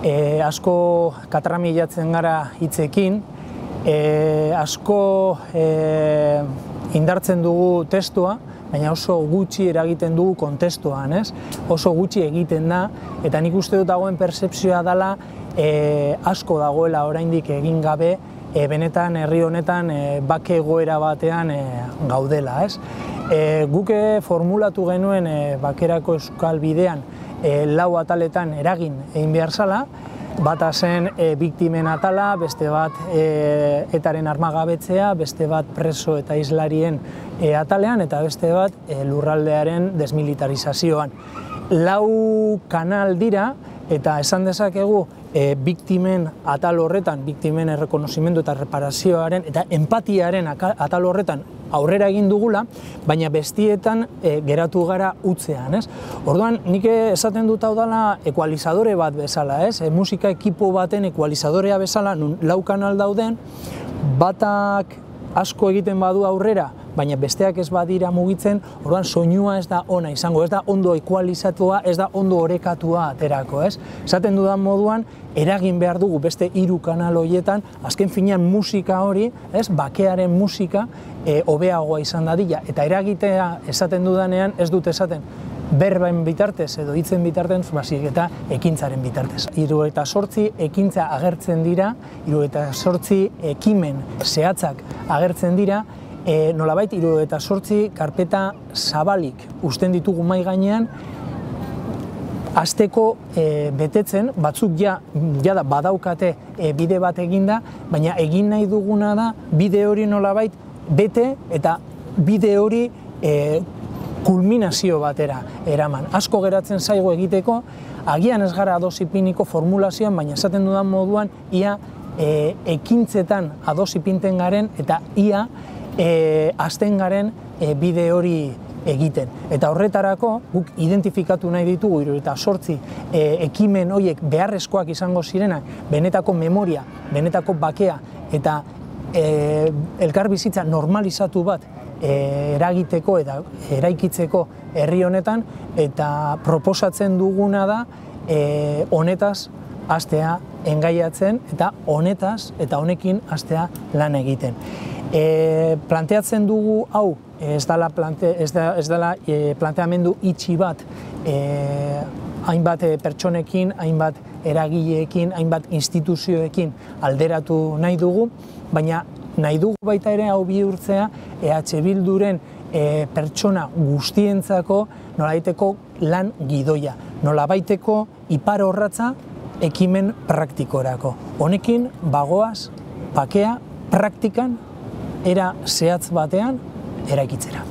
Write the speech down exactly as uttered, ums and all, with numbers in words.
E, asko katramilatzen gara hitzekin, e, asko e, indartzen dugu testua, baina oso gutxi eragiten dugu kontestuan, ez? Oso gutxi egiten da, eta nik uste dut dagoen pertzepzioa dela e, asko dagoela oraindik egin gabe, e, benetan herri honetan e, bake egoera batean e, gaudela, ez? E, guke formulatu genuen e, bakerako euskal bidean e, lau ataletan eragin egin behar zala, bata zen e, biktimen atala, beste bat e, etaren armagabetzea, beste bat preso eta islarien e, atalean, eta beste bat e, lurraldearen desmilitarizazioan. Lau kanal dira, eta esan dezakegu e, biktimen atal horretan, biktimen errekonozimendu eta reparazioaren eta empatiaren atal horretan aurrera egin dugula, baina bestietan e, geratu gara utzean, ez? Orduan, nik esaten dut hau dela ekualizadore bat bezala, ez? E, musika ekipo baten ekualizadorea bezala, nun lau kanal dauden, batak asko egiten badu aurrera, baina besteak ez badira mugitzen, orduan soinua ez da ona izango, ez da ondo ekualizatua, ez da ondo orekatua aterako, ez? Esaten dudan moduan, eragin behar dugu beste hiru kanal horietan, azken finean musika hori, ez, bakearen musika, e, hobeagoa izan dadila, eta eragitea esaten dudanean ez dut esaten berben bitartez edo hitzen bitartez, baizik eta ekintzaren bitartez. hirurogeita zortzi ekintza agertzen dira, hirurogeita zortzi ekimen zehatzak agertzen dira, e, nolabait hirurogeita zortzi karpeta zabalik uzten ditugu mahai gainean, hasteko e, betetzen, batzuk ja, ja da badaukate e, bide bat eginda, baina egin nahi duguna da bide hori nolabait bete eta bide hori e, kulminazio batera eraman. Asko geratzen zaigu egiteko, agian ez gara ados ipiniko formulazioan, baina esaten dudan moduan ia e, ekintzetan ados ipinten garen eta ia e, hasten garen e, bide hori egiten. Eta horretarako guk identifikatu nahi ditugu hirurogeita zortzi e, ekimen horiek beharrezkoak izango zirenak, benetako memoria, benetako bakea eta e, elkarbizitza normalizatu bat e, eragiteko eta eraikitzeko herri honetan, eta proposatzen duguna da e, honetaz hastea engaiatzen eta honetaz eta honekin hastea lan egiten. E, planteatzen dugu hau, ez dela, plante, ez da, ez dela e, planteamendu itxi bat, e, hainbat pertsonekin, hainbat eragileekin, hainbat instituzioekin alderatu nahi dugu, baina nahi dugu baita ere hau bihurtzea E H Bilduren e, pertsona guztientzako nolabaiteko lan gidoia, nolabaiteko ipar orratza ekimen praktikorako. Honekin bagoaz, bakea, praktikan, era zehatz batean eraikitzera.